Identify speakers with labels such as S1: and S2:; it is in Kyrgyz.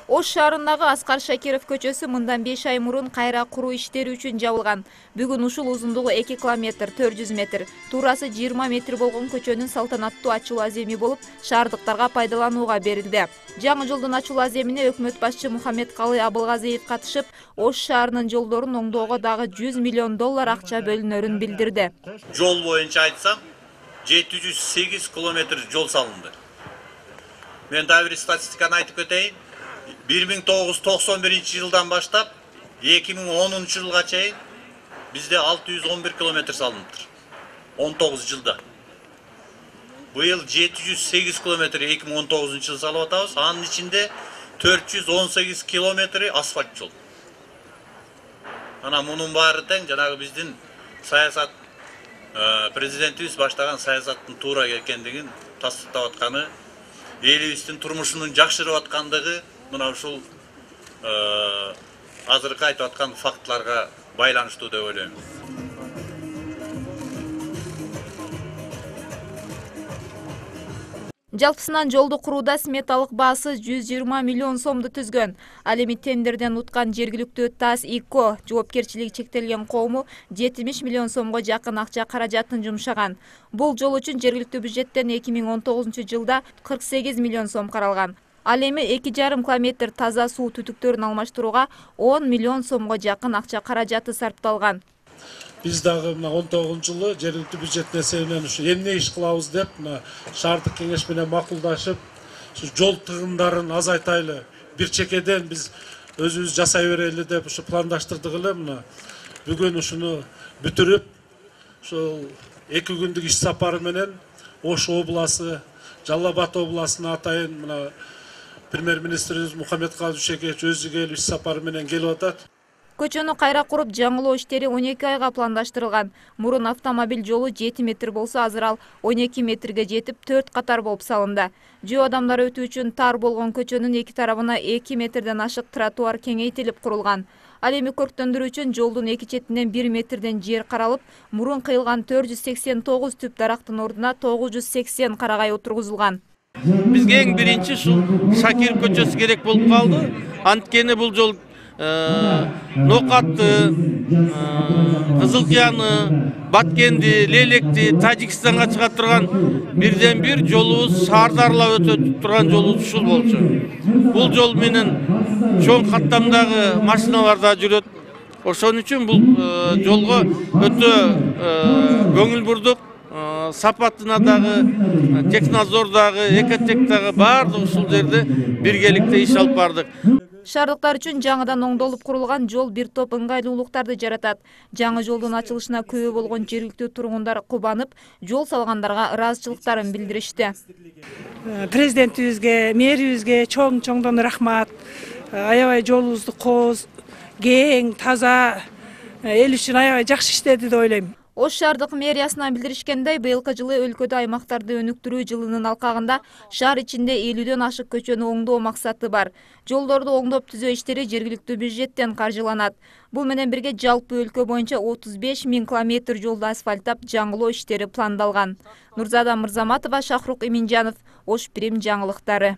S1: Ош шаарындагы Аскар Шакиров көчөсү мындан 5 ай мурун кайра куруу иштери үчүн жабылган. Бүгүн ушул узундугу 2 километр 400 метр, туурасы 20 метр болгон көчөнүн салтанаттуу ачуу аземи болуп, шаардыктарга пайдаланууга берилди. Жаңы жолдун ачуу аземине өкмөт башчы Мухаммедкалы Абылгазиев катышып, Ош шаарынын жолдорун оңдоого дагы 100 миллион доллар акча бөлүнөрүн билдирди.
S2: Жол боюнча айтсам, 708 километр жол салынды. Мен да бир статистиканы айтып кетейин. 1991 жылдан баштап 2010 жылга чейин бизде 611 километр салыныптыр. 19 жылда. Быйыл 708 километр 2019 жыл салып атабыз. Анын ичинде 418 километри асфальт жол. Ана мунун баары тең жанагы биздин саясат президентибиз баштаган саясаттын туура экендигин тастыктап атканы, элибиздин турмушунун жакшырып аткандыгы мына ушул азыркы айтып аткан фактларга байланыштуу деп ойлойм.
S1: Жалпысынан жолду курууда сметалык баасы 120 миллион сомду түзгөн. Ал эми тендерден уткан жергиликтүү ТАСС ИКО жоопкерчилиги чектелген коому 70 миллион сомго жакын акча каражатын жумшаган. Бул жол үчүн жергиликтүү бюджеттен 2019 жылда 48 миллион сом каралган. Ал эми 2,5 километр таза суу түтүктөрүн алмаштырууга 10 миллион сомго жакын акча каражаты сарпталган.
S3: Биз дагы 19 жылы жергиликтүү бюджеттин эсебинен ушу эмне иш кылабыз деп шаардык кеңеш менен макулдашып, жол тыгындарын азайтайлы, бир чекеден биз өзүбүз жасай берели деп ушу пландаштырдык эле. Бүгүн ушуну бүтүрүп, ушул 2 күндүк иш сапары менен Ош обласы, Жалал Абад областына атайын премьер-министрибиз Мухаммедкалы Дүйшөкевич өзү келип иш сапары менен келип атат.
S1: Көчөнү кайра куруп, жаңылоо иштери 12 айга пландаштырылган. Мурун автомобиль жолу 7 метр болсо, азыр ал 12 метрге жетип, 4 катар болуп салынды. Жөө адамдар өтүү үчүн тар болгон көчөнүн эки тарабына 2 метрден ашык тротуар кеңейтилип курулган. Ал эми көрктөндүрүү үчүн жолдун эки четинен 1 метрден жер каралып, мурун кыйылган 489 түп дарактын ордуна 980 карагай отургузулган.
S4: Бизге эң биринчи ушул Шакиров көчөсү керек болуп калды. Анткени бул жол Нокатты, Кызылкыяны, Баткенди, Лелекти, Тажикстанга чыга турган бирден бир жолубуз, шаарды аралап өтө турган жолубуз ушул болчу. Бул жол менен чоң каттамдагы машиналар да жүрөт. Ошон үчүн бул жолго өтө көңүл бурдук. Сапатына дагы, Технадзордагы, Экотектагы баардык ушул жерде биргеликте иш алып бардык.
S1: Шаардыктар үчүн жаңыдан оңдолуп курулган жол бир топ ыңгайлуулуктарды жаратат. Жаңы жолдун ачылышына күбө болгон жергиликтүү тургундар кубанып, жол салгандарга ыраазычылыктарын билдиришти.
S5: Президентибизге, мэрибизге чоңдон рахмат. Аябай жолубузду кооз, кең, таза, эл үчүн аябай жакшы иштеди деп ойлойм.
S1: Ош шаардык мэриясынан билдиришкендей, быйылкы жылы өлкөдө аймактарды өнүктүрүү жылынын алкагында шаар ичинде 50дөн ашык көчөнү оңдоо максаты бар. Жолдорду оңдоп түзөө иштери жергиликтүү бюджеттен каржыланат. Бул менен бирге жалпы өлкө боюнча 35 000 километр жолду асфальттап жаңылоо иштери пландалган. Нурзада Мырзаматова, Шахрук Иминжанов, Ош Прим жаңылыктары.